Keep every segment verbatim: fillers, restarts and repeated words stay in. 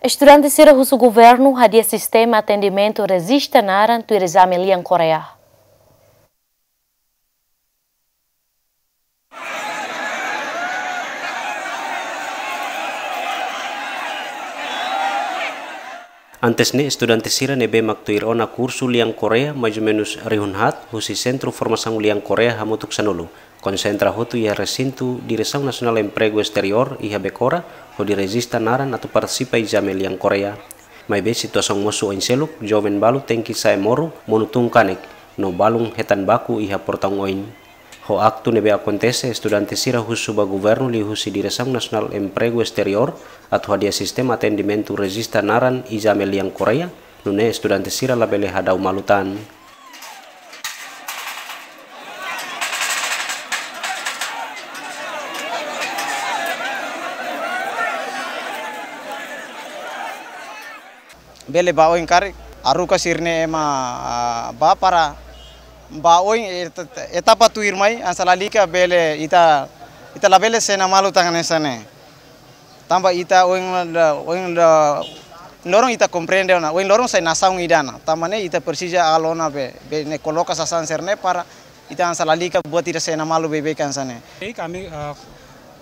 Estudante sira husu governu hadi'a sistema atendimentu rejista naran tuir ezame lian Koreia. Antes ne'e, estudante sira ne'ebé mak tuir ona kursu lian Koreia, mais ou menus rihun haat, husi Sentru Formasaun Lian Koreia hamutuk sanulu, konsentra hotu iha resintu Diresaun Nasionál Empregu Esteriór iha Becora, hodi rejista naran atu partisipa ezame lian Koreia. Maibé situasaun mosu oin seluk, joven balu tenke sa'e moru, monu tun kanek, no balun hetan baku iha portaun oin. Ho aktu ne'ebé akontese, estudante sira husu ba governu liuhusi Diresaun Nasionál Empregu Esteriór atu hadi'a sistema atendimentu rejista naran ezame lian Koreia, nune'e estudante sira labele hadau malu tan. Bele ba oin karik, haruka sira-ne'e ema, ah, ba para ba oin et-, etapa tuirmai, hanesan lalika bele ita, ita labele sena malu tan hanesan ne'e. Tanba ita oin la, oin la, loron ita komprende ona, oin loron sai nasaun ida ona. Tanba ne'e ita presiza halo ona be, be ne'e koloka sasán sira-ne'e para ita hanesan lalika buat ida sena malu beibeik hanesan ne'e. Ei, ami, ah,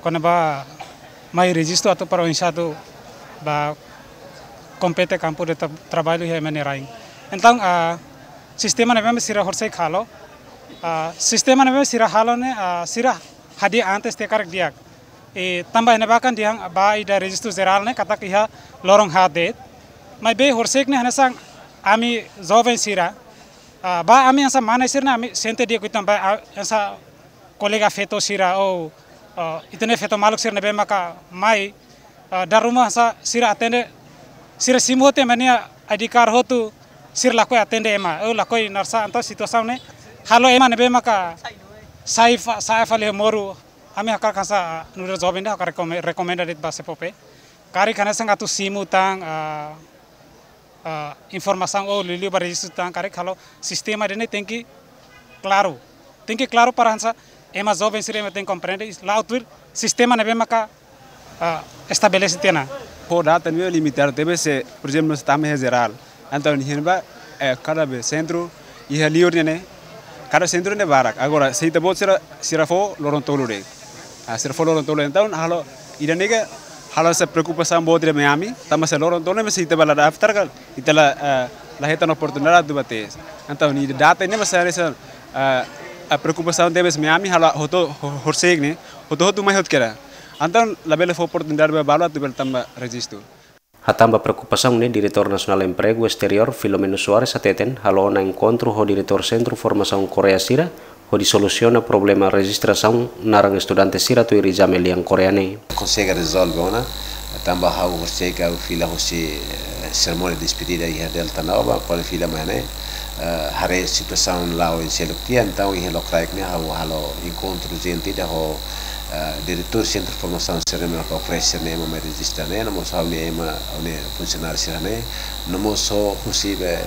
kona-ba mai rejistu atu para oinsá atu ba kompete kampu de tra-, traballu iha ema nia rain. Entaun, ah, sistema ne'ebé sira horiseik halo, ah, sistema ne'ebé sira halo ne'e, ah, sira hadi'a antes tiha karik di'ak. I tanba ne'ebá kan dehan ba ida rejistu jerál ne'e katak iha loron haat de'it. Maibé horiseik ne'e hanesan ami joven sira, ah, ba ami hanesan mane sira-ne'e ami sente di'ak uitoan ba, ah, hanesan kolega feto sira ou, ah, ita-nia feto maluk sira ne'ebé maka mai, ah, dala ruma hanesan sira atende, sira simu hotu ema nia I D card hotu, sira lakohi atende ema, ou lakohi naran sá, entaun situasaun ne'e halo ema ne'ebé maka sai fa-, sa'e fali moru. Ami hakarak hanesan, ah, nu'udar joven ida hakarak rekome-, rekomenda de'it ba SEFOPE. Karik hanesan atu simu tan, ah, ah, informasaun ou liuliu ba rejistu tan, karik halo sistema ida-ne'e tenke klaru. Tenke klaru para hanesan ema joven sira ema tenke komprende, la'o tuir sistema ne'ebé maka, ah, estabelese tiha ona. Ho data ne'e limitadu tebes, se, por ezemplu, se tama iha jerál. Entaun, iha ne'ebá, eh, kada be sentru iha liur ne'e, kada sentru ne'e barak. Agora, se ita-boot sira, sira fó loron tolu de'it. Ah, sira fó loron tolu. Entaun, halo, ida-ne'e ke halo hanesan preokupasaun boot ida mai ami, tanba se loron tolu ne'e, se ita bá la daftar kan, ita la, eh, la hetan oportunidade atu bá tes. Entaun, ida data ne'e mak sai hanesan, eh, ah, preokupasaun tebes mai ami, halo hotu, ho-, horiseik ne'e, hotu-hotu mai hotu kera. Entaun, labele fó oportunidade ba balu atu bele tama rejistu. Hatán ba preokupasaun ne'e, Diretór Nasionál Empregu Esteriór, Filomeno Soares, hateten halo ona enkontru ho diretór Sentru Formasaun Koreia sira, hodi solusiona problema rejistrasaun naran estudante sira tuir ezame lian Koreia ne'e. Konsege rezolve ona, tanba ha'u horiseik ha'u fila husi, eh, serimónia despedida iha Delta Nova, kuandu fila mai ne'e, eh, haree situasaun la'o oin seluk tiha, entaun iha lokraik ne'e ha'u halo enkontru urjente ida ho, eh, diretór Sentru Formasaun sira-ne'e mak oferese ne'e ema mai rejista ne'e, no mós ha'u-nia ema, ha'u-nia funsionáriu sira-ne'e, no mós ho husi be,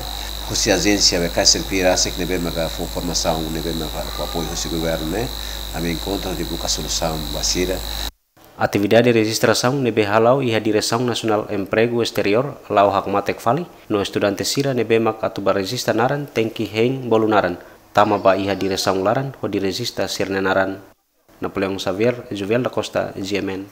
husi ajénsia be Kaiser Pira sira ne'ebé maka fó formasaun ne'ebé maka fó apoiu husi governu ne'e, ami enkontru hodi buka solusaun ba sira. Atividade rejistrasaun ne'ebé hala'o iha Diresaun Nasionál Empregu Esteriór la'o hakmatek fali, no estudante sira ne'ebé mak atu bá rejista naran tenke hein bolu naran, tama ba iha diresaun laran hodi rejista sira-nia naran. Napoleão Xavier, Juvel da Costa, G M N.